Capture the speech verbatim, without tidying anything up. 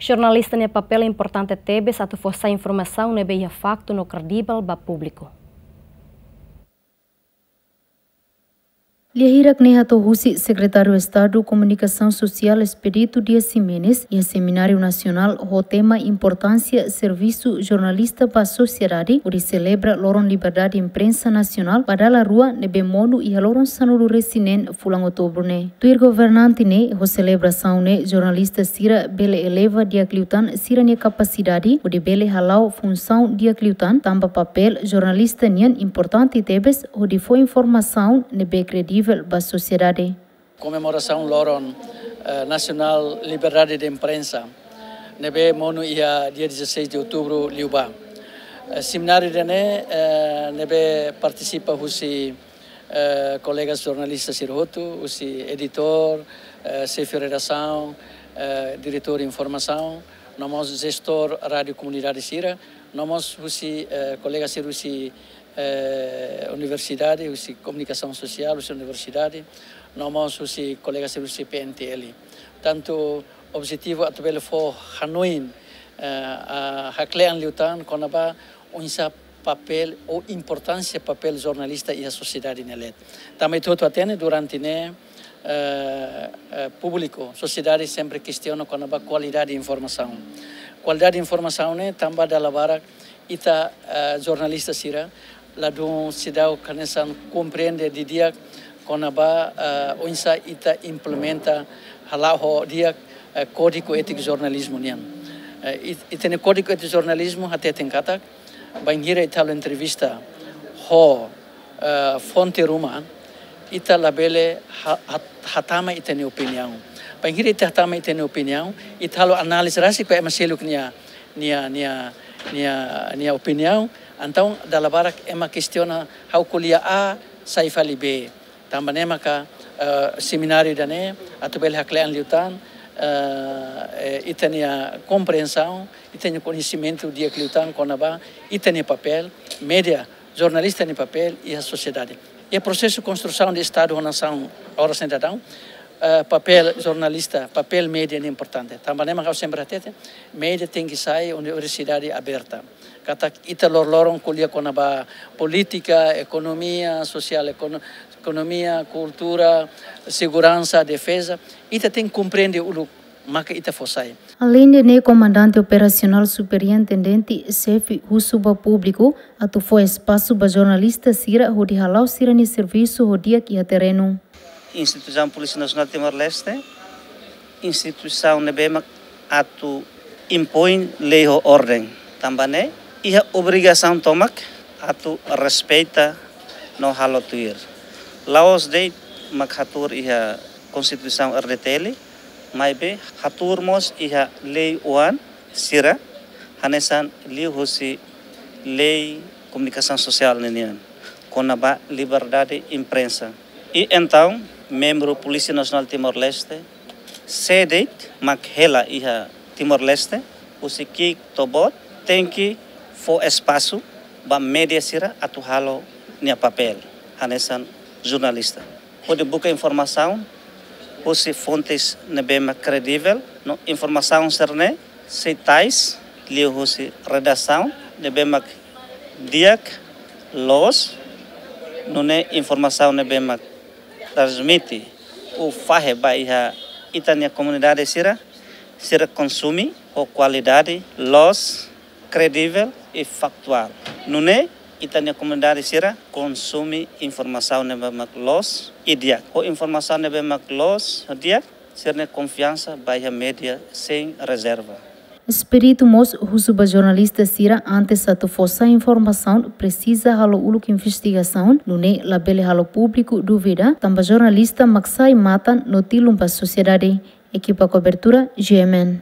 Jornalista nia papél importante tebes atu fó sai informasaun ne'ebé iha faktu no kredivel ba públiku. Lia hirak ne'e hato'o husi Sekretáriu Estadu Komunikasaun Sosiál Expedito Dias Ximenes iha Semináriu Nasionál ho tema Importánsia Servisu Jornalista ba Sosiedade, hodi selebra Loron Liberdade Imprensa Nasionál ba dala rua ne'ebé monu iha loron sanulu-resin-neen fulan Outubru ne'e. Tuir governante ne'e, ho selebrasaun ne'e jornalista sira bele eleva di'ak liután sira-nia kapasidade hodi bele hala'o funsaun di'ak liután, tanba papél jornalista nian importante tebes hodi fó informasaun ne'ebé kredivel ba sosiedade. Komemorasaun Loron, eh, Nasionál Liberdade de Imprensa ne'ebé monu iha dia dezasseis de Outubru liubá. Eh, semináriu ida-ne'e, eh, ne'ebé partisipa husi eh, kolega jornalista sira hotu, husi editór, eh, xefe redasaun, eh, diretór informasaun, no mós jestór rádiu komunidade sira, no mós husi, eh, kolega sira husi, eh, universidade, husi komunikasaun sosiál, husi universidade, no mós husi kolega sira husi P N T L. Tantu objetivu atu bele fó hanoin, eh, a, hakle'an liután kona-ba oinsá papél ou importánsia papél jornalista iha sosiedade nia leet. Tanba ita hotu hatene durante ne'e, eh, eh, públiku, sosiedade sempre kestiona kona-ba kualidade informasaun. Kualidade informasaun ne'e tanba dala barak ita, eh, jornalista sira ladún seidauk hanesan komprende didi'ak kona-ba, eh, oinsá ita implementa hala'o ho di'ak, eh, kódigu étiku jornalizmu nian. Eh, it-, ita-nia kódigu étiku jornalizmu hateten katak, bainhira ita halo entrevista ho, eh, fonte ruma, ita labele ha-, ha-, hatama ita-nia opiniaun. Bainhira ita hatama ita-nia opiniaun, ita halo análize rasik ba ema seluk nia, nia, nia, nia, nia opiniaun. Entaun dala barak ema kestiona ha'u ko'alia A, sai fali B. Tanba ne'e maka, eh, semináriu ida-ne'e atu bele hakle'an liután, eh, eh, ita-nia komprensaun, ita-nia koñesimentu di'ak liután kona-ba ita-nia papél, média, jornalista nia papél iha sosiedade. Iha prosesu konstrusaun de Estadu ho nasaun oras ne'e daudaun, eh, papél jornalista, papél média ne'e importante. Tanba ne'e maka ha'u sempre hatete, média tenke sai universidade aberta. Katak ita loroloron ko'alia kona-ba polítika, ekonomia, sosiál, ekono-, ekonomia, kultura, seguransa, defeza. Ita tenke komprende uluk maka ita fó sai. Aleinde ne'e, Komandante Operasionál Superintendente Xefe husu ba públiku atu fó espasu ba jornalista sira hodi hala'o sira-nia servisu ho di'ak iha terrenu. Instituisaun Polísia Nasionál Timor-Leste, instituisaun ne'ebé mak atu impoin lei ho orden. Tanba ne'e, iha obrigasaun tomak atu respeita no halo tuir. La'ós de'it mak hatuur iha Konstituisaun R D T L, maibé hatuur mós iha lei oan sira, hanesan liuhusi Lei Komunikasaun Sosiál ninian, kona-ba liberdade imprensa. I entaun, membru Polísia Nasionál Timor-Leste, sé de'it mak hela iha Timor-Leste, husi ki'ik to'o boot, tenke fó espasu ba média sira atu halo nia papél, hanesan jornalista. Hodi buka informasaun husi fontes ne'ebé mak kredivel, no informasaun sira-ne'e sei tais liuhusi redasaun ne'ebé mak di'ak, loos, nune'e informasaun ne'ebé mak transmite ou fahe ba iha ita-nia komunidade sira, sira konsume ho kualidade, loos, kredivel i faktuál. Nune'e ita-nia komunidade sira konsume informasaun ne'ebé mak loos i di'ak. Ho informasaun ne'ebé mak loos i di'ak, sira-nia konfiansa ba iha média sein rezerva. Expedito mós husu ba jornalista sira, antes atu fó sai informasaun, presiza halo uluk investigasaun, nune'e labele halo públiku dúvida, tanba jornalista mak sai matan no tilun ba sosiedade. Ekipa kobertura, G M N.